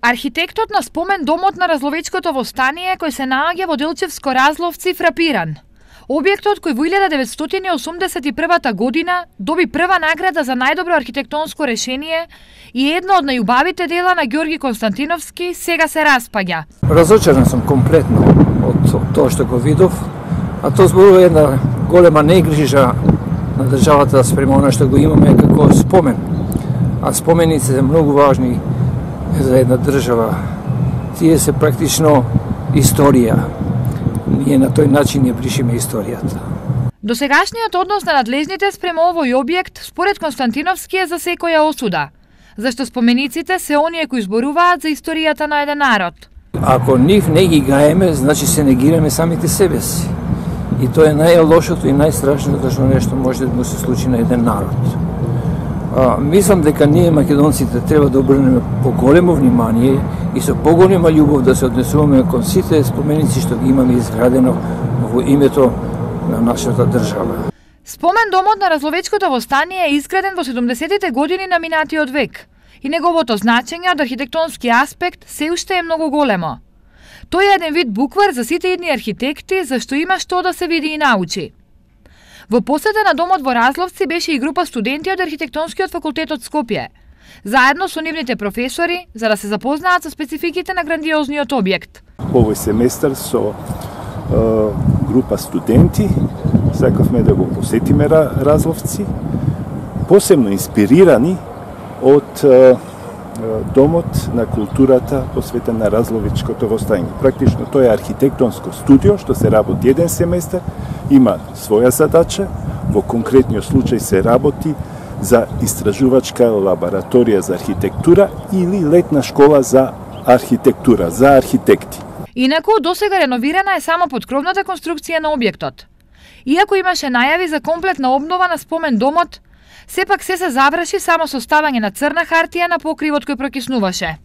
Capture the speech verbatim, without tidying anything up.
Архитектот на спомен домот на Разловечкото востание, кој се наоѓа во Делчевско Разловци, фрапиран. Објектот кој во илјада деветстотини и осумдесет и прва година доби прва награда за најдобро архитектонско решение и едно од најубавите дела на Ѓорги Константиновски, сега се распаѓа. Разочаран сум комплетно од тоа што го видов, а тоа зборува една голема негрижа на државата спрема она што го имаме како спомен. А споменици се многу важни за една држава. Тие се практично историја. Ние на тој начин ја бришиме историјата. Досегашниот однос на надлежните спрема овој објект, според Константиновски, е за секоја осуда, зашто спомениците се оние кои зборуваат за историјата на еден народ. Ако нив не ги гаеме, значи се негираме самите себе си. И тоа е најлошото и најстрашното што нешто може да му се случи на еден народ. А, мислам дека ние македонците треба да обрнеме поголемо внимание и со поголема љубов да се однесуваме кон сите споменици што ги имаме изградено во името на нашата држава. Спомен домот на Разловечкото востание е изграден во седумдесетите години на минатиот век и неговото значење од архитектонски аспект се уште е многу големо. Тој е еден вид буквар за сите идни архитекти, зашто има што да се види и научи. Во посета на домот во Разловци беше и група студенти од архитектонскиот факултет од Скопје, заедно со нивните професори, за да се запознаат со спецификите на грандиозниот објект. Овој семестар со е, група студенти сакавме да го посетиме Разловци, посебно инспирирани од е, Домот на културата посветен на Разловечкото востание. Практично тоа е архитектонско студио што се работи еден семестар, има своја задача, во конкретниот случај се работи за истражувачка лабораторија за архитектура или летна школа за архитектура, за архитекти. Инаку, досега реновирана е само подкровната конструкција на објектот. Иако имаше најави за комплетна обнова на спомен домот, сепак се се заврши само со ставање на црна хартија на покривот кој прокиснуваше.